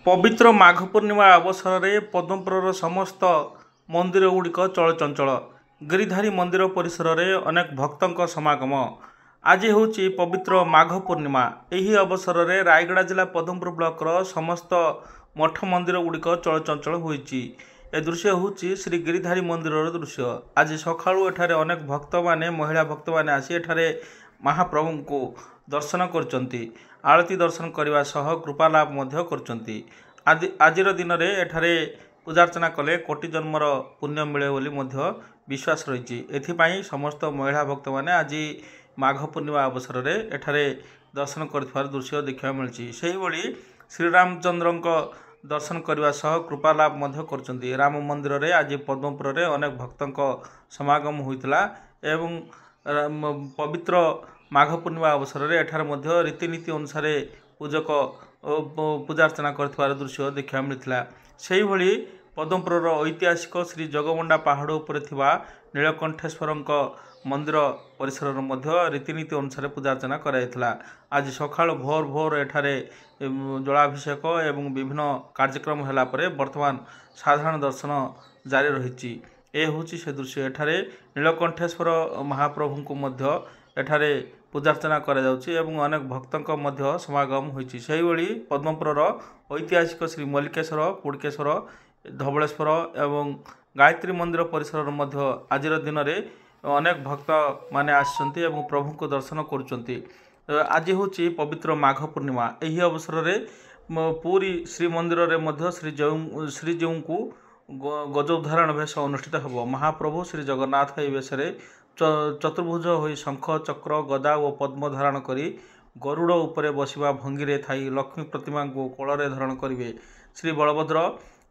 ପବିତ୍ର ମାଘ ପୂର୍ଣ୍ଣିମା ଅବସରରେ ପଦ୍ମପୁରର ସମସ୍ତ ମନ୍ଦିର ଗୁଡ଼ିକ ଚଳଚଞ୍ଚଳ। ଗିରିଧାରୀ ମନ୍ଦିର ପରିସରରେ ଅନେକ ଭକ୍ତଙ୍କ ସମାଗମ। ଆଜି ହେଉଛି ପବିତ୍ର ମାଘ ପୂର୍ଣ୍ଣିମା। ଏହି ଅବସରରେ ରାୟଗଡ଼ା ଜିଲ୍ଲା ପଦ୍ମପୁର ବ୍ଲକର ସମସ୍ତ ମଠ ମନ୍ଦିର ଗୁଡ଼ିକ ଚଳଚଞ୍ଚଳ ହୋଇଛି। ଏ ଦୃଶ୍ୟ ହେଉଛି ଶ୍ରୀ ଗିରିଧାରୀ ମନ୍ଦିରର ଦୃଶ୍ୟ। ଆଜି ସକାଳୁ ଏଠାରେ ଅନେକ ଭକ୍ତମାନେ, ମହିଳା ଭକ୍ତମାନେ ଆସି ଏଠାରେ ମହାପ୍ରଭୁଙ୍କୁ ଦର୍ଶନ କରୁଛନ୍ତି। ଆଳତି ଦର୍ଶନ କରିବା ସହ କୃପାଲାଭ ମଧ୍ୟ କରୁଛନ୍ତି। ଆଜିର ଦିନରେ ଏଠାରେ ପୂଜାର୍ଚ୍ଚନା କଲେ କୋଟି ଜନ୍ମର ପୁଣ୍ୟ ମିଳେ ବୋଲି ମଧ୍ୟ ବିଶ୍ୱାସ ରହିଛି। ଏଥିପାଇଁ ସମସ୍ତ ମହିଳା ଭକ୍ତମାନେ ଆଜି ମାଘ ପୂର୍ଣ୍ଣିମା ଅବସରରେ ଏଠାରେ ଦର୍ଶନ କରୁଥିବାର ଦୃଶ୍ୟ ଦେଖିବାକୁ ମିଳିଛି। ସେହିଭଳି ଶ୍ରୀରାମଚନ୍ଦ୍ରଙ୍କ ଦର୍ଶନ କରିବା ସହ କୃପାଲାଭ ମଧ୍ୟ କରୁଛନ୍ତି। ରାମ ମନ୍ଦିରରେ ଆଜି ପଦ୍ମପୁରରେ ଅନେକ ଭକ୍ତଙ୍କ ସମାଗମ ହୋଇଥିଲା ଏବଂ ପବିତ୍ର ମାଘ ପୂର୍ଣ୍ଣିମା ଅବସରରେ ଏଠାରେ ମଧ୍ୟ ରୀତିନୀତି ଅନୁସାରେ ପୂଜକ ପୂଜାର୍ଚ୍ଚନା କରିଥିବାର ଦୃଶ୍ୟ ଦେଖିବାକୁ ମିଳିଥିଲା। ସେହିଭଳି ପଦ୍ମପୁରର ଐତିହାସିକ ଶ୍ରୀ ଜଗମଣ୍ଡା ପାହାଡ଼ ଉପରେ ଥିବା ନୀଳକଣ୍ଠେଶ୍ୱରଙ୍କ ମନ୍ଦିର ପରିସରରେ ମଧ୍ୟ ରୀତିନୀତି ଅନୁସାରେ ପୂଜାର୍ଚ୍ଚନା କରାଯାଇଥିଲା। ଆଜି ସକାଳୁ ଭୋର ଭୋର ଏଠାରେ ଜଳାଭିଷେକ ଏବଂ ବିଭିନ୍ନ କାର୍ଯ୍ୟକ୍ରମ ହେଲା ପରେ ବର୍ତ୍ତମାନ ସାଧାରଣ ଦର୍ଶନ ଜାରି ରହିଛି। ଏ ହେଉଛି ସେ ଦୃଶ୍ୟ। ଏଠାରେ ନୀଳକଣ୍ଠେଶ୍ୱର ମହାପ୍ରଭୁଙ୍କୁ ମଧ୍ୟ ଏଠାରେ ପୂଜାର୍ଚ୍ଚନା କରାଯାଉଛି ଏବଂ ଅନେକ ଭକ୍ତଙ୍କ ମଧ୍ୟ ସମାଗମ ହୋଇଛି। ସେହିଭଳି ପଦ୍ମପୁରର ଐତିହାସିକ ଶ୍ରୀ ମଲ୍ଲିକେଶ୍ୱର, କୁଡ଼କେଶ୍ୱର, ଧବଳେଶ୍ୱର ଏବଂ ଗାୟତ୍ରୀ ମନ୍ଦିର ପରିସରରେ ମଧ୍ୟ ଆଜିର ଦିନରେ ଅନେକ ଭକ୍ତମାନେ ଆସିଛନ୍ତି ଏବଂ ପ୍ରଭୁଙ୍କୁ ଦର୍ଶନ କରୁଛନ୍ତି। ଆଜି ହେଉଛି ପବିତ୍ର ମାଘ ପୂର୍ଣ୍ଣିମା। ଏହି ଅବସରରେ ପୁରୀ ଶ୍ରୀମନ୍ଦିରରେ ମଧ୍ୟ ଶ୍ରୀଜୀଉଙ୍କୁ ଗଜୋଦ୍ଧାରଣ ବେଶ ଅନୁଷ୍ଠିତ ହେବ। ମହାପ୍ରଭୁ ଶ୍ରୀ ଜଗନ୍ନାଥ ଏହି ବେଶରେ ଚତୁର୍ଭୁଜ ହୋଇ ଶଙ୍ଖ, ଚକ୍ର, ଗଦା ଓ ପଦ୍ମ ଧାରଣ କରି ଗରୁଡ଼ ଉପରେ ବସିବା ଭଙ୍ଗୀରେ ଥାଇ ଲକ୍ଷ୍ମୀ ପ୍ରତିମାଙ୍କୁ କୋଳରେ ଧାରଣ କରିବେ। ଶ୍ରୀ ବଳଭଦ୍ର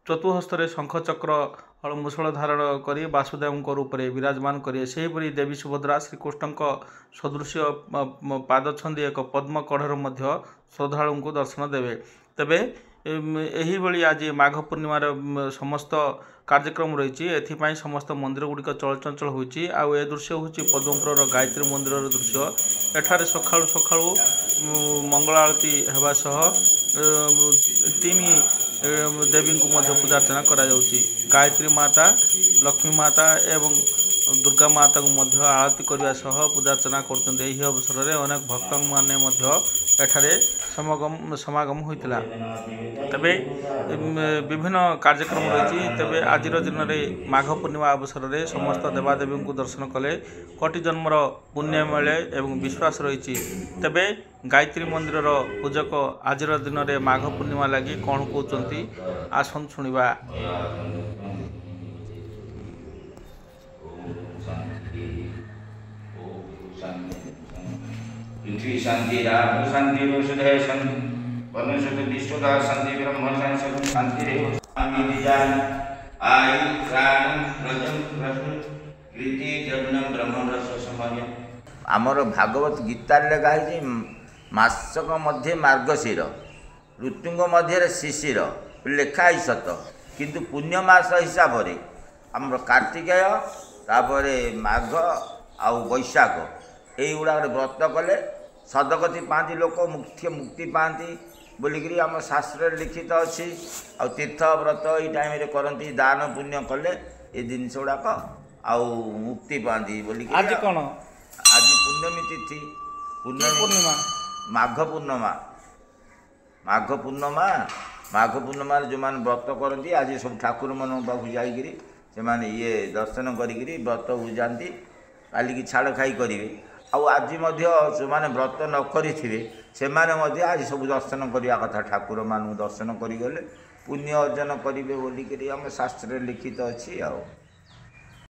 ଚତୁଃହସ୍ତରେ ଶଙ୍ଖ, ଚକ୍ର, ହଳ, ମୁଷଳ ଧାରଣ କରି ବାସୁଦେବଙ୍କ ରୂପରେ ବିରାଜମାନ କରିବେ। ସେହିପରି ଦେବୀ ସୁଭଦ୍ରା ଶ୍ରୀକୃଷ୍ଣଙ୍କ ସଦୃଶ୍ୟ ପାଦ ଛନ୍ଦି ଏକ ପଦ୍ମ କଢ଼ରେ ମଧ୍ୟ ଶ୍ରଦ୍ଧାଳୁଙ୍କୁ ଦର୍ଶନ ଦେବେ। ତେବେ ଏହିଭଳି ଆଜି ମାଘ ପୂର୍ଣ୍ଣିମାର ସମସ୍ତ କାର୍ଯ୍ୟକ୍ରମ ରହିଛି। ଏଥିପାଇଁ ସମସ୍ତ ମନ୍ଦିର ଗୁଡ଼ିକ ଚଳଚଞ୍ଚଳ ହୋଇଛି। ଆଉ ଏ ଦୃଶ୍ୟ ହେଉଛି ପଦ୍ମପୁରର ଗାୟତ୍ରୀ ମନ୍ଦିରର ଦୃଶ୍ୟ। ଏଠାରେ ସକାଳୁ ସକାଳୁ ମଙ୍ଗଳ ଆଳତି ହେବା ସହ ତିନି ଦେବୀଙ୍କୁ ମଧ୍ୟ ପୂଜାର୍ଚ୍ଚନା କରାଯାଉଛି। ଗାୟତ୍ରୀ ମାତା, ଲକ୍ଷ୍ମୀ ମାତା ଏବଂ ଦୁର୍ଗା ମାତାଙ୍କୁ ମଧ୍ୟ ଆଳତି କରିବା ସହ ପୂଜାର୍ଚ୍ଚନା କରୁଛନ୍ତି। ଏହି ଅବସରରେ ଅନେକ ଭକ୍ତମାନେ ମଧ୍ୟ ଏଠାରେ ସମାଗମ ହୋଇଥିଲା। ତେବେ ବିଭିନ୍ନ କାର୍ଯ୍ୟକ୍ରମ ରହିଛି। ତେବେ ଆଜିର ଦିନରେ ମାଘ ପୂର୍ଣ୍ଣିମା ଅବସରରେ ସମସ୍ତ ଦେବାଦେବୀଙ୍କୁ ଦର୍ଶନ କଲେ କୋଟି ଜନ୍ମର ପୁଣ୍ୟ ମିଳେ ଏବଂ ବିଶ୍ୱାସ ରହିଛି। ତେବେ ଗାୟତ୍ରୀ ମନ୍ଦିରର ପୂଜକ ଆଜିର ଦିନରେ ମାଘ ପୂର୍ଣ୍ଣିମା ଲାଗି କ'ଣ କହୁଛନ୍ତି, ଆସନ୍ତୁ ଶୁଣିବା। ପୃଥ୍ୱୀ ଶାନ୍ତି, ରାମ ଶାନ୍ତି, ଔଷଧୟ ଶାନ୍ତି, ବନସ୍ପତି ବିଶ୍ୱଦା ଶାନ୍ତି, ବ୍ରହ୍ମ ଶାନ୍ତି, ଶାନ୍ତିରେବ ଆୟୁ ପ୍ରାଣ ବ୍ରଜಂ ପ୍ରସୁ କୀର୍ତ୍ତି ଦ୍ରବିଣಂ ବ୍ରହ୍ମ ରସ ସମୟ। ଆମର ଭାଗବତ ଗୀତାରେ ଲେଖା ହେଇଛି, ମାସକ ମଧ୍ୟେ ମାର୍ଗଶିର, ଋତୁଙ୍କ ମଧ୍ୟରେ ଶିଶିର ଲେଖା ହେଇଛି ସତ, କିନ୍ତୁ ପୁଣ୍ୟ ମାସ ହିସାବରେ ଆମର କାର୍ତ୍ତିକେୟ, ତାପରେ ମାଘ ଆଉ ବୈଶାଖ, ଏଇଗୁଡ଼ାକରେ ବ୍ରତ କଲେ ସଦଗତି ପାଆନ୍ତି ଲୋକ, ମୁଖ୍ୟ ମୁକ୍ତି ପାଆନ୍ତି ବୋଲିକିରି ଆମ ଶାସ୍ତ୍ରରେ ଲିଖିତ ଅଛି। ଆଉ ତୀର୍ଥ ବ୍ରତ ଏଇ ଟାଇମ୍ରେ କରନ୍ତି, ଦାନ ପୁଣ୍ୟ କଲେ ଏ ଜିନିଷ ଗୁଡ଼ାକ ଆଉ ମୁକ୍ତି ପାଆନ୍ତି ବୋଲିକିରି। ଆଜି କ'ଣ? ଆଜି ପୂର୍ଣ୍ଣମୀ ତିଥି, ପୂର୍ଣ୍ଣମୀ ପୂର୍ଣ୍ଣିମା, ମାଘ ପୂର୍ଣ୍ଣମା। ମାଘ ପୂର୍ଣ୍ଣମା, ମାଘ ପୂର୍ଣ୍ଣିମାରେ ଯେଉଁମାନେ ବ୍ରତ କରନ୍ତି, ଆଜି ସବୁ ଠାକୁରମାନଙ୍କ ପାଖକୁ ଯାଇକିରି ସେମାନେ ଇଏ ଦର୍ଶନ କରିକିରି ବ୍ରତ ବୁଝାନ୍ତି, କାଲିକି ଛାଡ଼ ଖାଇ କରିବେ। ଆଉ ଆଜି ମଧ୍ୟ ସେମାନେ ବ୍ରତ ନ କରିଥିବେ, ସେମାନେ ମଧ୍ୟ ଆଜି ସବୁ ଦର୍ଶନ କରିବା କଥା। ଠାକୁରମାନଙ୍କୁ ଦର୍ଶନ କରିଗଲେ ପୁଣ୍ୟ ଅର୍ଜନ କରିବେ ବୋଲିକିରି ଆମ ଶାସ୍ତ୍ରରେ ଲିଖିତ ଅଛି। ଆଉ